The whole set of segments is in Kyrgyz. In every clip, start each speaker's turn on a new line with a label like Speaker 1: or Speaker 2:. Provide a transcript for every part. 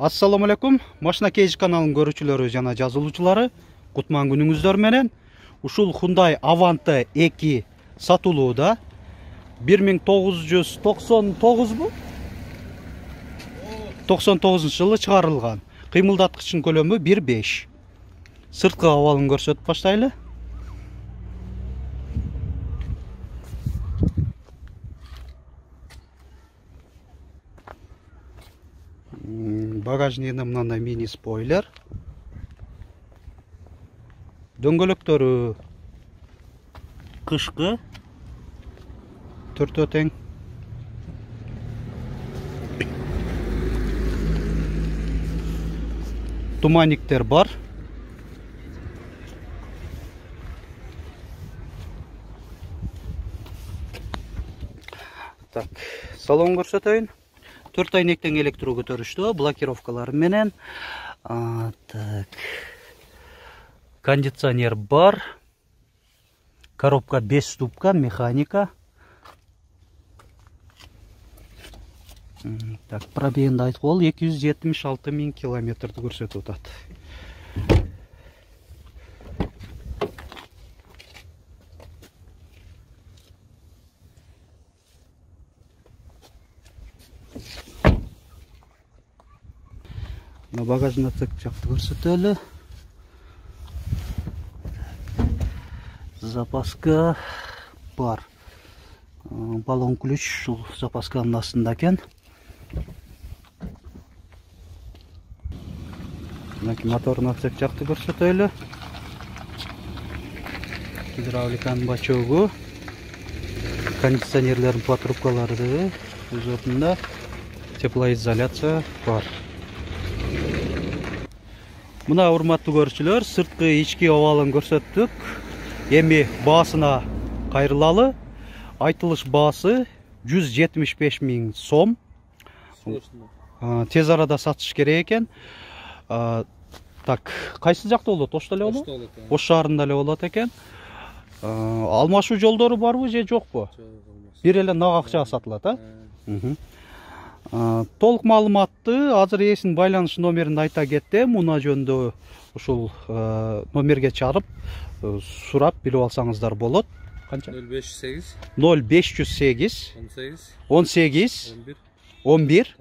Speaker 1: Assalamu alaikum. Машина Кейж каналынын көрүүчүлөрү жана жазылуучулары, кутман күнүңүздөр менен. Ушул Hyundai Avante 2 сатылууда. 1999 бу? 99-жылы чыгарылган. Кыймылдаткычынын көлөмү 1.5. Сырткы абалын көрсөтүп баштайлы. Багажнигинде мындай мини спойлер. Дөңгөлөктөрү кышкы. Төртөө тең. Туманниктер бар. Так, салон көрсөтөйүн. 4 айнектен электро көтөрүштү, блокировкалары менен. Так. Кондиционер бар. Коробка 5 ступка, механика. Так, пробегинди айтып ол 276 000 километрди көрсөтүп атат. На багажный отсек жакты көрсөтөлү. Запаска бар. Баллон ключ ушул запасканын астында экен. Мотордун отсек жакты көрсөтөлү. Гидравликанын бачогу, кондиционерлердин патрубкалары өз ордунда, теплоизоляция бар. Мына урматтуу көрүүчүлөр, сырткы ички абалын көрсөттүк. Эми баасына кайрылалы. Айтылыш баасы 175 000 сом. Тез арада сатыш керек экен. Так, кайсы жакта болот? Ошто эле болот? Ош шаарында эле болот экен. Алмашуу жолдору барбы же жокпу? Бир эле нак акчага сатылат, а? Толук маалыматты азыр ээсинин байланыш номерин айта кетти. Муна жөнүндө ушул номерге чарып сурап билип алсаңыздар болот. Канча?
Speaker 2: 0508
Speaker 1: 18 11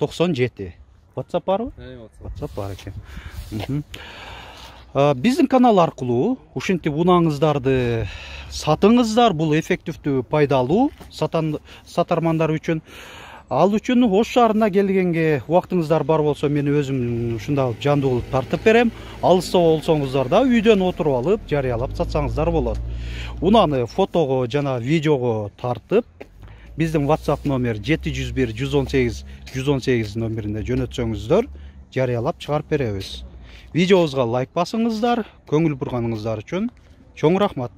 Speaker 1: 97. WhatsApp барбы? WhatsApp бар экен. Биздин канал аркылуу ушинтип унааңыздарды сатыңыздар. Бул эффективдүү, пайдалуу сатармандар үчүн. Ал үчүн Ош шаарына келгенге убактыңыздар бар болсо, мен өзүм ушундай жандуу кылып тартып берем. Алыста болсоңуздар да үйдөн отуруп алып, жарыялап сатсаңыздар болот. Унаны фотого жана видеого тартып, биздин WhatsApp номер 701 118 118 номерине жөнөтсөңүздөр, жарыялап чыгарып беребиз. Видеобузга лайк басыңыздар. Көңүл бурганыңыздар үчүн чоң рахмат.